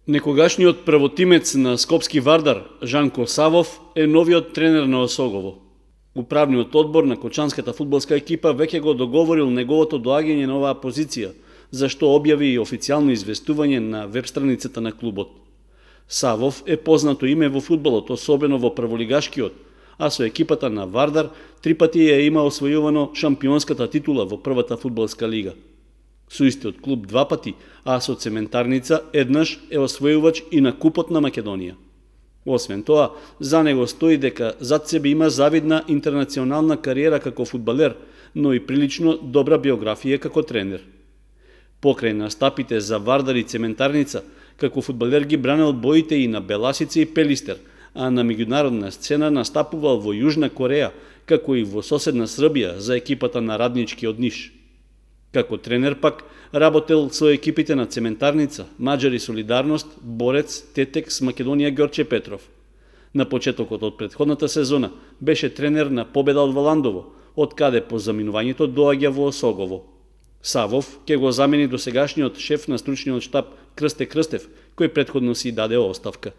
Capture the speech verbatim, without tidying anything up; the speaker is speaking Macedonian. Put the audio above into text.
Некогашниот првотимец на Скопски Вардар, Жанко Савов, е новиот тренер на Осогово. Управниот одбор на кочанската фудбалска екипа веќе го договорил неговото доаѓање на оваа позиција, за што објави и официјално известување на веб страницата на клубот. Савов е познато име во фудбалот, особено во прволигашкиот, а со екипата на Вардар три пати ја има освојувано шампионската титула во првата фудбалска лига. Со истиот клуб два пати, а со Цементарница еднаш е освојувач и на Купот на Македонија. Освен тоа, за него стои дека зад себе има завидна интернационална кариера како фудбалер, но и прилично добра биографија како тренер. Покрај настапите за Вардар и Цементарница, како фудбалер ги бранел боите и на Беласица и Пелистер, а на меѓународна сцена настапувал во Јужна Кореја, како и во соседна Србија за екипата на Радничкиот Ниш. Како тренер пак работел со екипите на Цементарница, Маџари Солидарност, Борец, Тетекс, Македонија Ѓорче Петров. На почетокот од претходната сезона беше тренер на Победа од Валандово, од каде по заминувањето доаѓа во Осогово. Савов ќе го замени досегашниот шеф на стручниот штаб Крсте Крстев, кој претходно си даде оставка.